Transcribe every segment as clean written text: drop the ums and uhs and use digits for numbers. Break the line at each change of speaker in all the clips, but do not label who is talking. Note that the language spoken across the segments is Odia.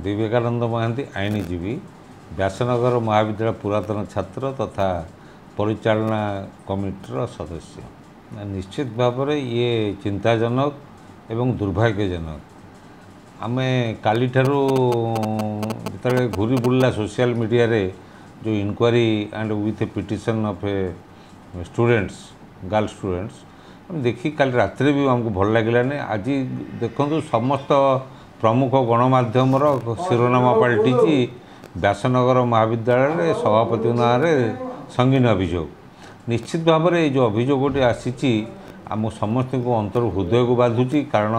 ବିବେକାନନ୍ଦ ମହାନ୍ତି, ଆଇନଜୀବୀ, ବ୍ୟାସନଗର ମହାବିଦ୍ୟାଳୟ ପୁରାତନ ଛାତ୍ର ତଥା ପରିଚାଳନା କମିଟିର ସଦସ୍ୟ। ନିଶ୍ଚିତ ଭାବରେ ଇଏ ଚିନ୍ତାଜନକ ଏବଂ ଦୁର୍ଭାଗ୍ୟଜନକ। ଆମେ କାଲିଠାରୁ ଯେତେବେଳେ ଘୁରି ବୁଲିଲା ସୋସିଆଲ ମିଡ଼ିଆରେ ଯେଉଁ inquiry and with a petition of a students, girl students, ଆମେ ଦେଖି କାଲି ରାତିରେ ବି ଆମକୁ ଭଲ ଲାଗିଲାନି। ଆଜି ଦେଖନ୍ତୁ, ସମସ୍ତ ପ୍ରମୁଖ ଗଣମାଧ୍ୟମର ଶିରୋନାମା ପାଲଟିଛି ବ୍ୟାସନଗର ମହାବିଦ୍ୟାଳୟରେ ସଭାପତିଙ୍କ ନାଁରେ ସଙ୍ଗୀନ ଅଭିଯୋଗ। ନିଶ୍ଚିତ ଭାବରେ ଏଇ ଯେଉଁ ଅଭିଯୋଗଟି ଆସିଛି, ଆମ ସମସ୍ତଙ୍କୁ ଅନ୍ତର ହୃଦୟକୁ ବାଧୁଛି। କାରଣ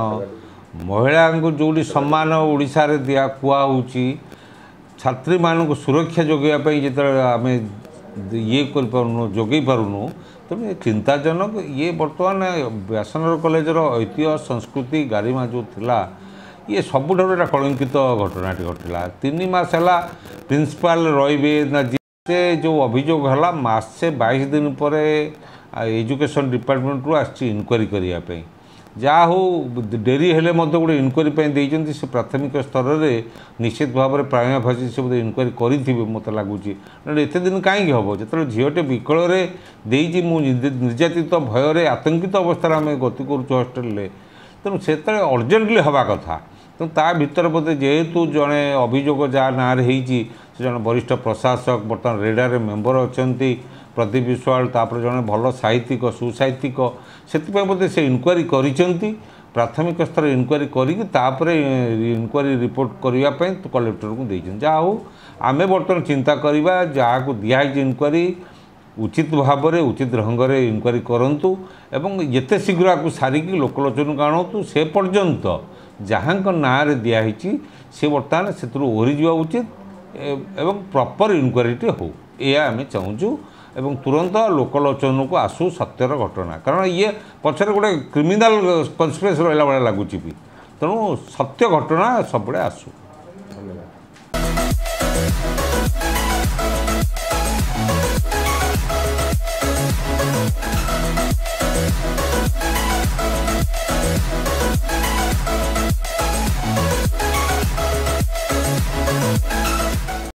ମହିଳାଙ୍କୁ ଯେଉଁଠି ସମ୍ମାନ ଓଡ଼ିଶାରେ ଦିଆ କୁହା ହେଉଛି, ଛାତ୍ରୀମାନଙ୍କୁ ସୁରକ୍ଷା ଯୋଗାଇବା ପାଇଁ ଯେତେବେଳେ ଆମେ ଇଏ କରିପାରୁନୁ, ଯୋଗାଇ ପାରୁନୁ, ତେଣୁ ଏ ଚିନ୍ତାଜନକ। ଇଏ ବର୍ତ୍ତମାନ ବ୍ୟାସନଗର କଲେଜର ଐତିହ୍ୟ, ସଂସ୍କୃତି, ଗାରିମା ଯେଉଁ ଥିଲା, ଇଏ ସବୁଠାରୁ ଏଇଟା କଳଙ୍କିତ ଘଟଣାଟି ଘଟିଲା। 3 ମାସ ହେଲା ପ୍ରିନ୍ସିପାଲ ରହିବେ ନା, ସେ ଯେଉଁ ଅଭିଯୋଗ ହେଲା, ମାସେ 22 ଦିନ ପରେ ଏଜୁକେସନ୍ ଡିପାର୍ଟମେଣ୍ଟରୁ ଆସିଛି ଇନକ୍ୱାରି କରିବା ପାଇଁ। ଯାହା ହଉ, ଡେରି ହେଲେ ମଧ୍ୟ ଗୋଟେ ଇନକ୍ୱାରି ପାଇଁ ଦେଇଛନ୍ତି। ସେ ପ୍ରାଥମିକ ସ୍ତରରେ ନିଶ୍ଚିତ ଭାବରେ ପ୍ରାଇମା ଫାସି ସେ ବୋଧେ ଇନକ୍ୱାରି କରିଥିବେ ମୋତେ ଲାଗୁଛି। ନହେଲେ ଏତେ ଦିନ କାହିଁକି ହେବ, ଯେତେବେଳେ ଝିଅଟେ ବିକଳରେ ଦେଇଛି, ମୁଁ ନିର୍ଯାତିତ, ଭୟରେ ଆତଙ୍କିତ ଅବସ୍ଥାରେ ଆମେ ଗତି କରୁଛୁ ହଷ୍ଟେଲରେ। ତେଣୁ ସେତେବେଳେ ଅର୍ଜେଣ୍ଟଲି ହେବା କଥା। ତେଣୁ ତା ଭିତରେ ବୋଧେ ଯେହେତୁ ଜଣେ ଅଭିଯୋଗ ଯାହା ନାଁରେ ହେଇଛି, ସେ ଜଣେ ବରିଷ୍ଠ ପ୍ରଶାସକ, ବର୍ତ୍ତମାନ ରେଡ଼ାରେ ମେମ୍ବର ଅଛନ୍ତି ପ୍ରଦୀପ ବିଶ୍ୱାଳ, ତାପରେ ଜଣେ ଭଲ ସାହିତ୍ୟିକ, ସୁସାହିତ୍ୟିକ, ସେଥିପାଇଁ ବୋଧେ ସେ ଇନକ୍ୱାରି କରିଛନ୍ତି। ପ୍ରାଥମିକ ସ୍ତରରେ ଇନକ୍ୱାରି କରିକି ତାପରେ ଇନକ୍ୱାରି ରିପୋର୍ଟ କରିବା ପାଇଁ କଲେକ୍ଟରଙ୍କୁ ଦେଇଛନ୍ତି। ଯାହା ହଉ, ଆମେ ବର୍ତ୍ତମାନ ଚିନ୍ତା କରିବା, ଯାହାକୁ ଦିଆହେଇଛି ଇନକ୍ୱାରି, ଉଚିତ ଭାବରେ ଉଚିତ ଢଙ୍ଗରେ ଇନକ୍ୱାରି କରନ୍ତୁ ଏବଂ ଯେତେ ଶୀଘ୍ର ଆକୁ ସାରିକି ଲୋକଲୋଚନକୁ ଆଣନ୍ତୁ। ସେ ପର୍ଯ୍ୟନ୍ତ ଯାହାଙ୍କ ନାଁରେ ଦିଆହେଇଛି, ସେ ବର୍ତ୍ତମାନ ସେଥିରୁ ଓହରିଯିବା ଉଚିତ ଏବଂ ପ୍ରପର ଇନକ୍ୱାରିଟି ହେଉ, ଏହା ଆମେ ଚାହୁଁଛୁ। ଏବଂ ତୁରନ୍ତ ଲୋକଲୋଚନକୁ ଆସୁ ସତ୍ୟର ଘଟଣା, କାରଣ ଇଏ ପଛରେ ଗୋଟେ କ୍ରିମିନାଲ କନସ୍ପିରେସି ରହିଲା ଭଳିଆ ଲାଗୁଛି ବି। ତେଣୁ ସତ୍ୟ ଘଟଣା ସବୁବେଳେ ଆସୁ।